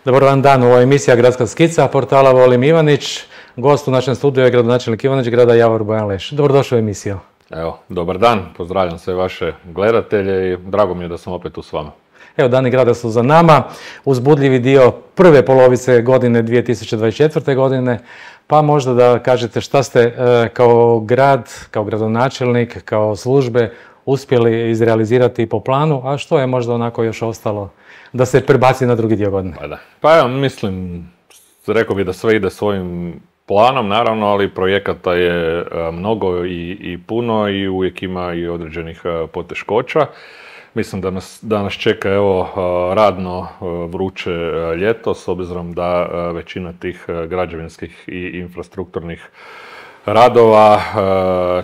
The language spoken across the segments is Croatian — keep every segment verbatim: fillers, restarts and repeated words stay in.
Dobar vam dan, ovo je emisija Gradska skica portala Volim Ivanić. Gost u našem studiju je gradonačelnik Ivanić, grada Javor Bojan Leš. Dobrodošli u emisiju. Evo, dobar dan, pozdravljam sve vaše gledatelje i drago mi je da sam opet tu s vama. Evo, dani grada su za nama, uzbudljivi dio prve polovice godine dvije tisuće dvadeset četvrte. godine, pa možda da kažete šta ste e, kao grad, kao gradonačelnik, kao službe uspjeli izrealizirati po planu, a što je možda onako još ostalo da se prebaci na drugi dio godine? Pa da. Pa evo, mislim, rekao bih da sve ide svojim planom, naravno, ali projekata je mnogo i, i puno i uvijek ima i određenih poteškoća. Mislim da nas, da nas čeka evo radno vruće ljeto, s obzirom da većina tih građevinskih i infrastrukturnih radova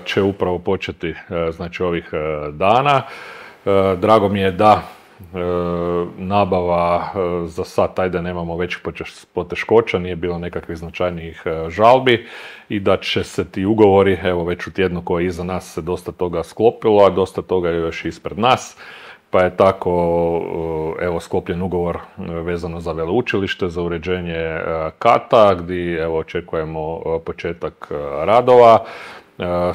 će upravo početi znači ovih dana. Drago mi je da nabava za sad, ajde nemamo većih poteškoća, nije bilo nekakvih značajnijih žalbi i da će se ti ugovori, evo već u tjednu koji je iza nas se dosta toga sklopilo, a dosta toga je još ispred nas. Pa je tako evo sklopljen ugovor vezano za veleučilište, za uređenje kata, gdje evo očekujemo početak radova.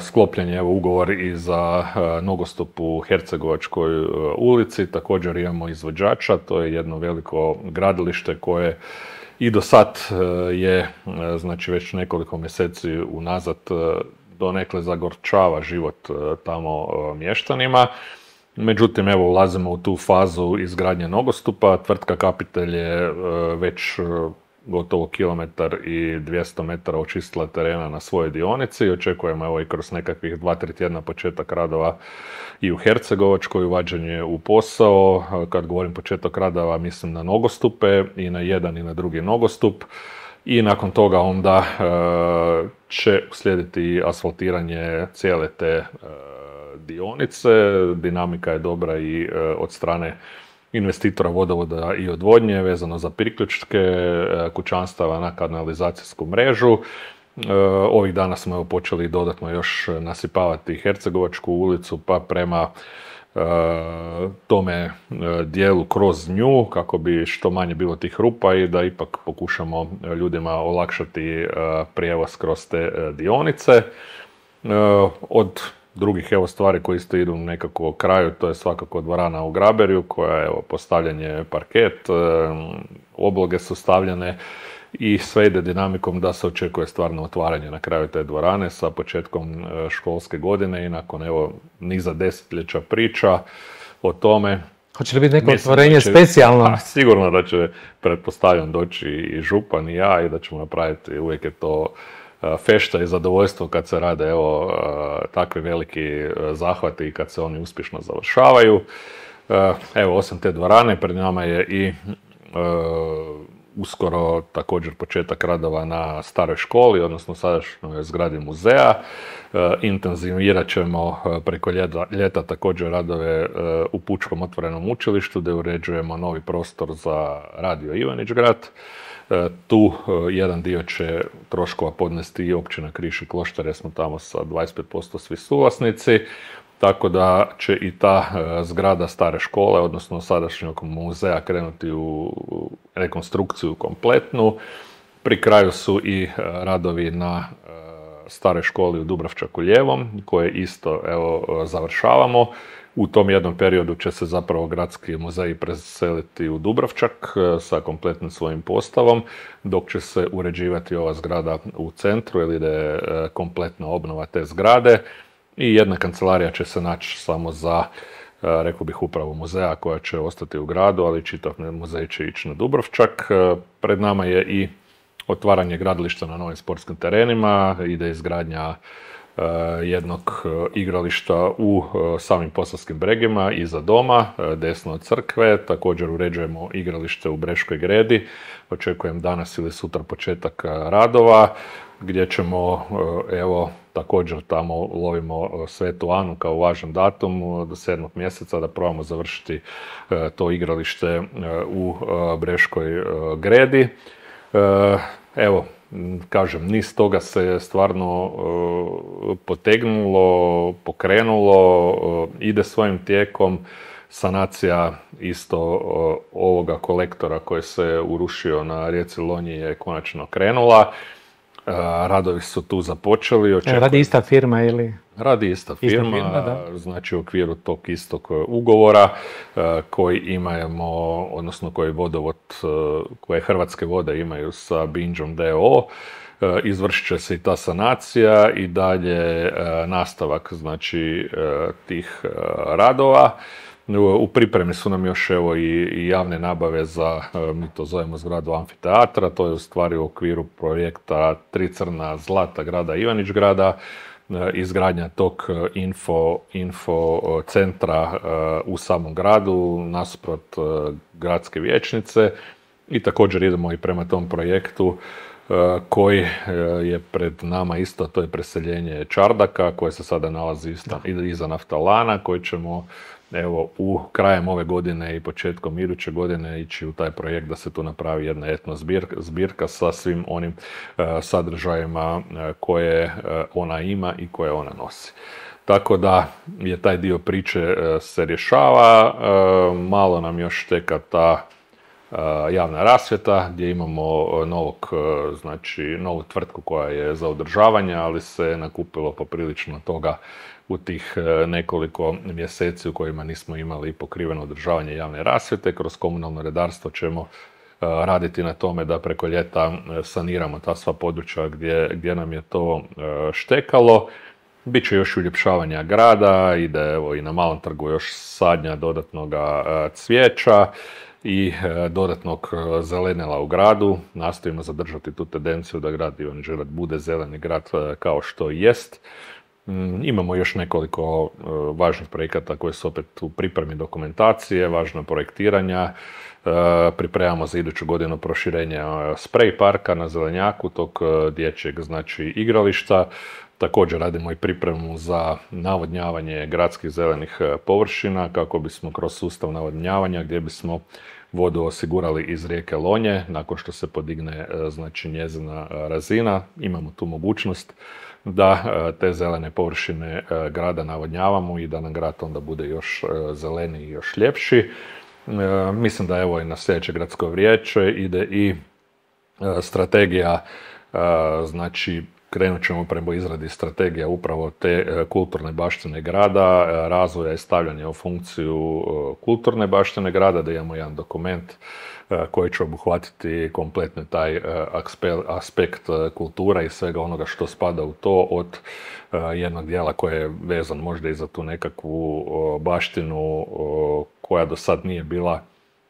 Sklopljen je evo ugovor i za nogostup u Hercegovačkoj ulici, također imamo izvođača, to je jedno veliko gradilište koje i do sad je, znači već nekoliko mjeseci unazad, donekle zagorčava život tamo mještanima. Međutim, evo ulazimo u tu fazu izgradnje nogostupa, tvrtka Kapitel je već gotovo kilometar i dvjesto metara očistila terena na svojoj dionici i očekujemo evo i kroz nekakvih dva tri tjedna početak radova i u Hercegovačkoj, uvađanje u posao. Kad govorim početak radova, mislim na nogostupe i na jedan i na drugi nogostup. I nakon toga onda e, će slijediti asfaltiranje cijele te e, dionice. Dinamika je dobra i e, od strane investitora vodovoda i odvodnje vezano za priključke kućanstava na kanalizacijsku mrežu. Ovih dana smo evo počeli dodatno još nasipavati Hercegovačku ulicu pa prema e, tome dijelu kroz nju kako bi što manje bilo tih rupa i da ipak pokušamo ljudima olakšati e, prijevoz kroz te dionice. E, od drugih evo stvari koje isto idu nekako kraju, to je svakako dvorana u Graberju koja je evo postavljanje parket, e, obloge su stavljene i sve ide dinamikom da se očekuje stvarno otvaranje na kraju te dvorane sa početkom e, školske godine i nakon evo niza desetljeća priča o tome. Hoće li biti neko otvorenje specijalno? A, sigurno da će, pretpostavljam, doći i župan i ja i da ćemo napraviti, uvijek je to fešta i zadovoljstvo kad se rade evo takvi veliki zahvati i kad se oni uspješno završavaju. Evo, osim te dvorane, pred nama je i uskoro također početak radova na staroj školi, odnosno sadašnjoj zgradi muzeja. Intenzivirat ćemo preko ljeta, ljeta također radove u Pučkom otvorenom učilištu, gdje uređujemo novi prostor za Radio Ivanić grad. Tu jedan dio će troškova podnesti i općina Križ i Kloštar, jer smo tamo sa dvadeset pet posto svi suvlasnici, tako da će i ta zgrada stare škole, odnosno sadašnjeg muzeja, krenuti u rekonstrukciju kompletnu. Pri kraju su i radovi na staroj školi u Dubravčaku Ljevom, koje isto evo završavamo. U tom jednom periodu će se zapravo gradski muzej preseliti u Dubravčak sa kompletnim svojim postavom, dok će se uređivati ova zgrada u centru, jer ide kompletna obnova te zgrade i jedna kancelarija će se naći samo za, rekao bih, upravu muzeja koja će ostati u gradu, ali čitav muzej će ići na Dubravčak. Pred nama je i otvaranje gradilišta na novim sportskim terenima, ide izgradnja jednog igrališta u samim Posavskim Bregima iza doma, desno od crkve. Također uređujemo igralište u Breškoj Gredi. Očekujem danas ili sutra početak radova, gdje ćemo, evo, također tamo lovimo Svetu Anu kao važan datum do sedmog mjeseca da probamo završiti to igralište u Breškoj Gredi. Evo, kažem, niz toga se stvarno potegnulo, pokrenulo, ide svojim tijekom. Sanacija isto ovoga kolektora koji se urušio na rijeci Lonji je konačno krenula. Radovi su tu započeli. Očekujem... Radi ista firma ili? Radi ista firma, ista firma znači u okviru tog istog ugovora koji imamo, odnosno koji vodovod, koje Hrvatske vode imaju sa Binđom d o o. Izvršit će se i ta sanacija i dalje nastavak, znači, tih radova. U pripremi su nam još evo i javne nabave za, mi to zovemo zgradu amfiteatra, to je u stvari u okviru projekta Tri crna zlata grada Ivanić grada, izgradnja tog info, info centra u samom gradu, nasuprot gradske vijećnice, i također idemo i prema tom projektu koji je pred nama isto, to je preseljenje Čardaka, koje se sada nalazi iza Naftalana, koji ćemo evo u krajem ove godine i početkom iduće godine ići u taj projekt da se tu napravi jedna etno zbirka, zbirka sa svim onim uh, sadržajima uh, koje uh, ona ima i koje ona nosi. Tako da je taj dio priče uh, se rješava, uh, malo nam još teka ta uh, javna rasvjeta gdje imamo novog, uh, znači novu tvrtku koja je za održavanje, ali se nakupilo poprilično toga u tih nekoliko mjeseci u kojima nismo imali pokriveno održavanje javne rasvjete. Kroz komunalno redarstvo ćemo raditi na tome da preko ljeta saniramo ta sva područja gdje, gdje nam je to štekalo. Biće još uljepšavanja grada, ide evo i na Malom trgu još sadnja dodatnog cvijeća i dodatnog zelenila u gradu. Nastojimo zadržati tu tendenciju da grad Ivanić Grad bude zeleni grad kao što jest. Imamo još nekoliko uh, važnih projekata koji su opet u pripremi dokumentacije, važno projektiranja. Uh, pripremamo za iduću godinu proširenje uh, sprej parka na Zelenjaku, tog uh, dječjeg, znači, igrališta. Također radimo i pripremu za navodnjavanje gradskih zelenih uh, površina kako bismo kroz sustav navodnjavanja, gdje bismo vodu osigurali iz rijeke Lonje nakon što se podigne uh, znači njezina uh, razina. Imamo tu mogućnost da te zelene površine grada navodnjavamo i da nam grad onda bude još zeleniji i još ljepši. Mislim da evo i na sljedeće gradsko vijeće ide i strategija, znači krenut ćemo prema izradi strategija upravo te kulturne baštine grada, razvoja i stavljanja u funkciju kulturne baštine grada, da imamo jedan dokument koji će obuhvatiti kompletno taj aspekt kultura i svega onoga što spada u to, od jednog dijela koji je vezan možda i za tu nekakvu baštinu koja do sad nije bila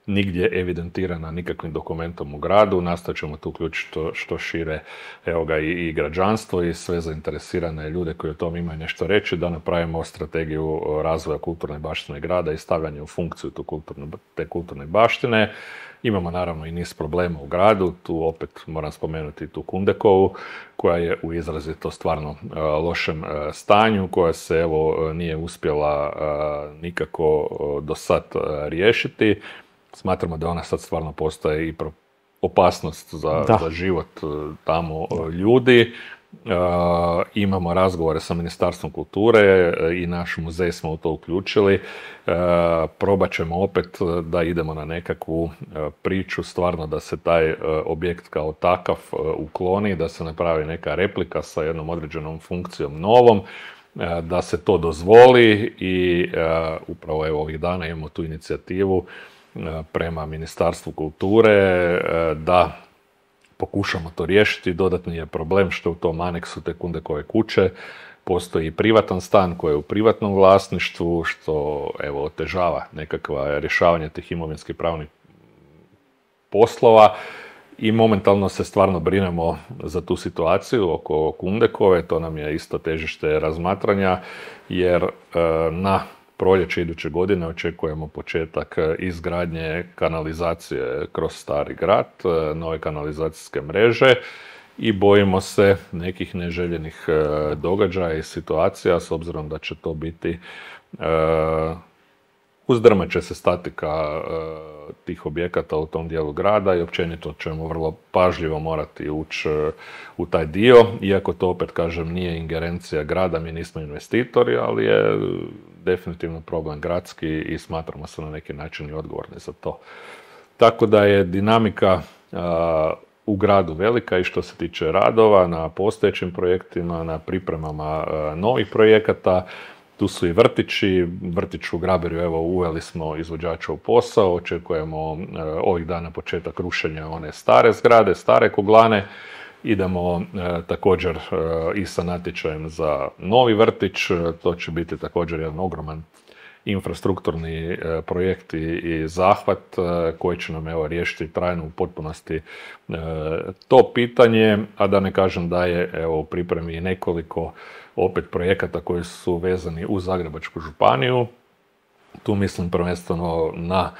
nigdje evidentirana nikakvim dokumentom u gradu. Nastojat ćemo tu uključiti što, što šire evo ga, i, i građanstvo i sve zainteresirane ljude koji o tom imaju nešto reći, da napravimo strategiju razvoja kulturne baštine grada i stavljanje u funkciju tu kulturne, te kulturne baštine. Imamo naravno i niz problema u gradu, tu opet moram spomenuti tu Kundekovu, koja je u izrazito stvarno uh, lošem uh, stanju, koja se evo nije uspjela uh, nikako uh, do sad uh, riješiti. Smatramo da ona sad stvarno postaje i opasnost za, za život uh, tamo uh, ljudi. Uh, imamo razgovore sa Ministarstvom kulture uh, i naš muzej smo u to uključili. Uh, probat ćemo opet da idemo na nekakvu uh, priču, stvarno da se taj uh, objekt kao takav uh, ukloni, da se napravi neka replika sa jednom određenom funkcijom novom, uh, da se to dozvoli i uh, upravo evo ovih dana imamo tu inicijativu uh, prema Ministarstvu kulture uh, da pokušamo to riješiti. Dodatni je problem što u tom aneksu te Kundekove kuće postoji privatan stan koji je u privatnom vlasništvu, što evo otežava nekakva rješavanje tih imovinskih pravnih poslova i momentalno se stvarno brinemo za tu situaciju oko Kundekove. To nam je isto težište razmatranja jer e, na proljeće iduće godine očekujemo početak izgradnje kanalizacije kroz Stari grad, nove kanalizacijske mreže i bojimo se nekih neželjenih događaja i situacija s obzirom da će to biti uzdrmat će se statika tih objekata u tom dijelu grada i općenito ćemo vrlo pažljivo morati ući u taj dio, iako to opet kažem nije ingerencija grada, mi nismo investitori, ali je definitivno problem gradski i smatramo se na neki način i odgovorni za to. Tako da je dinamika a, u gradu velika i što se tiče radova na postojećim projektima, na pripremama a, novih projekata. Tu su i vrtići, vrtić u Graberju, evo uveli smo izvođača u posao, očekujemo e, ovih dana početak rušenja one stare zgrade, stare kuglane. Idemo e, također e, i sa natječajem za novi vrtić, to će biti također jedan ogroman infrastrukturni e, projekt i, i zahvat e, koji će nam evo riješiti trajno u potpunosti e, to pitanje, a da ne kažem da je evo u pripremi nekoliko opet projekata koji su vezani u Zagrebačku županiju. Tu mislim prvenstveno na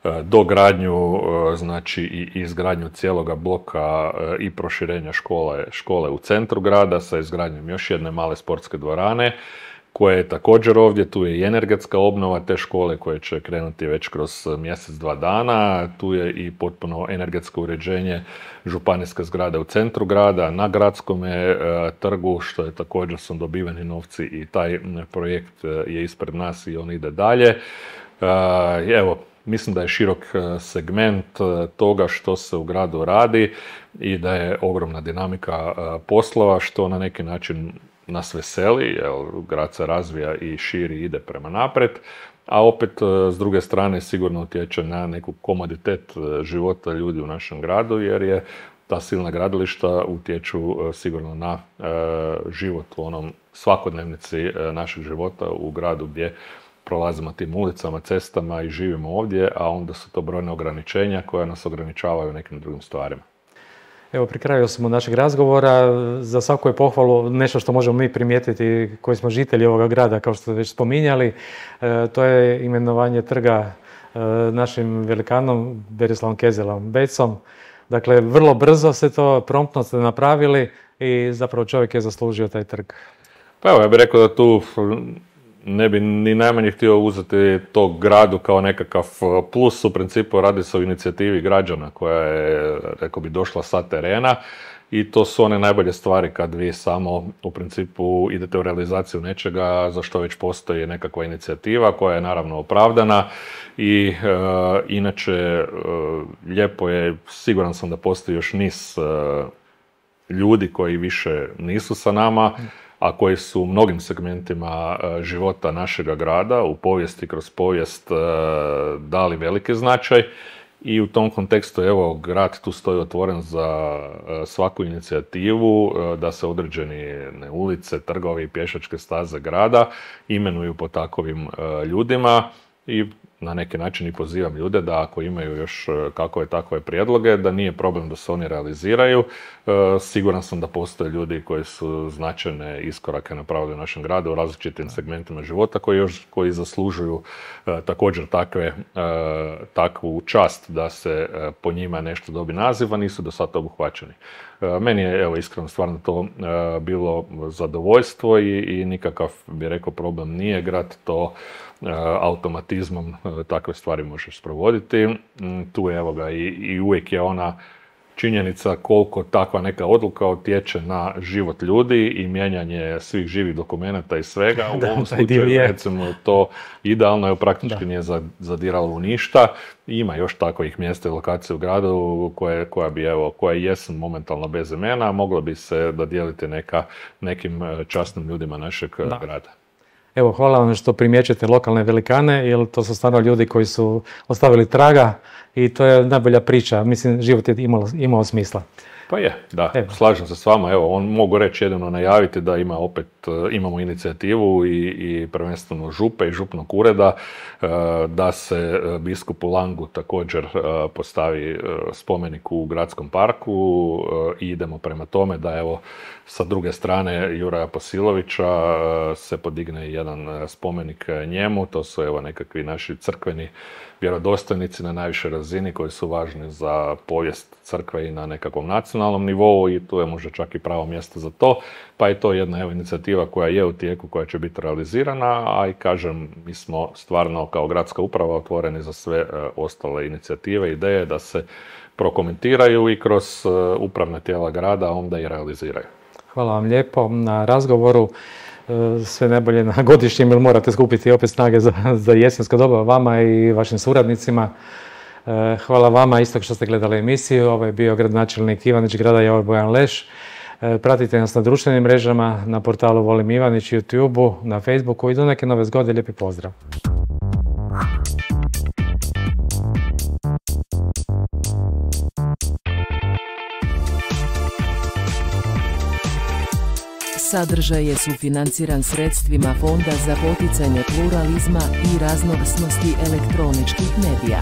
e, dogradnju, e, znači i izgradnju cijeloga bloka e, i proširenja škole, škole u centru grada sa izgradnjom još jedne male sportske dvorane, koje je također ovdje, tu je i energetska obnova te škole koje će krenuti već kroz mjesec, dva dana. Tu je i potpuno energetsko uređenje županijske zgrade u centru grada, na Gradskome e, trgu, što je također su dobiveni novci i taj projekt je ispred nas i on ide dalje. E, evo, mislim da je širok segment toga što se u gradu radi i da je ogromna dinamika poslova, što na neki način nas veseli, jer grad se razvija i širi, ide prema naprijed, a opet s druge strane sigurno utječe na neku komoditet života ljudi u našem gradu, jer je ta silna gradilišta utječu sigurno na život u onom svakodnevnici našeg života u gradu gdje prolazimo tim ulicama, cestama i živimo ovdje, a onda su to brojne ograničenja koja nas ograničavaju u nekim drugim stvarima. Evo, pri kraju smo našeg razgovora. Za svaku je pohvalu nešto što možemo mi primijetiti koji smo žitelji ovoga grada, kao što ste već spominjali. E, to je imenovanje trga e, našim velikanom Berislavom Kezelom Becom. Dakle, vrlo brzo se to, promptno ste napravili i zapravo čovjek je zaslužio taj trg. Pa evo, ja bih rekao da tu ne bi ni najmanje htio uzeti tog gradu kao nekakav plus. U principu radi se o inicijativi građana koja je, rekao bi, došla sa terena i to su one najbolje stvari kad vi samo u principu idete u realizaciju nečega za što već postoji nekakva inicijativa koja je naravno opravdana i e, inače e, lijepo je, siguran sam da postoji još niz e, ljudi koji više nisu sa nama, a koji su u mnogim segmentima života našega grada, u povijesti, kroz povijest dali veliki značaj. I u tom kontekstu, evo, grad tu stoji otvoren za svaku inicijativu da se određeni ulice, trgovi i pješačke staze grada imenuju po takovim ljudima i na neki način i pozivam ljude da ako imaju još kakove takve prijedloge, da nije problem da se oni realiziraju. Siguran sam da postoje ljudi koji su značajne iskorake napravili u našem gradu u različitim segmentima života koji još koji zaslužuju također takve, takvu čast da se po njima nešto dobi naziv, a nisu do sada obuhvaćeni. Meni je, evo, iskreno stvarno to bilo zadovoljstvo i, i nikakav, bi rekao, problem nije. Grad to automatizmom takve stvari može sprovoditi. Tu je, evo ga, i, i uvijek je ona činjenica koliko takva neka odluka utječe na život ljudi i mijenjanje svih živih dokumenata i svega. U ovom slučaju, recimo, to idealno je, praktički da. Nije zadiralo u ništa. Ima još takvih mjesta i lokacija u gradu koje, koja bi, evo, koja jesu momentalno bez imena, moglo bi se dodijeliti neka, nekim časnim ljudima našeg da. grada. Evo, hvala vam što primjećujete lokalne velikane, jer to su stvarno ljudi koji su ostavili traga i to je najbolja priča. Mislim, život je imao, imao smisla. Pa je, da, evo. Slažem se s vama. Evo, on mogu reći jedino najaviti da ima opet, imamo inicijativu i, i prvenstveno župe i župnog ureda da se biskupu Langu također postavi spomenik u gradskom parku i idemo prema tome da, evo, sa druge strane Juraja Posilovića se podigne jedan spomenik njemu. To su, evo, nekakvi naši crkveni vjerodostojnici na najvišoj razini koji su važni za povijest crkve i na nekakvom nacionalnom nivou i tu je možda čak i pravo mjesto za to, pa je to jedna evo, inicijativa koja je u tijeku, koja će biti realizirana, a i kažem, mi smo stvarno kao gradska uprava otvoreni za sve e, ostale inicijative, ideje da se prokomentiraju i kroz e, upravne tijela grada onda i realiziraju. Hvala vam lijepo na razgovoru. Sve najbolje na godišnjem, jer morate skupiti opet snage za, za jesensko doba vama i vašim suradnicima. Hvala vama isto što ste gledali emisiju. Ovo je bio gradonačelnik Ivanić grada Javor Bojan Leš. Pratite nas na društvenim mrežama, na portalu Volim Ivanić, YouTube-u, na Facebooku i do neke nove zgode. Lijepi pozdrav. Sadržaj je sufinanciran sredstvima Fonda za poticanje pluralizma i raznovrsnosti elektroničkih medija.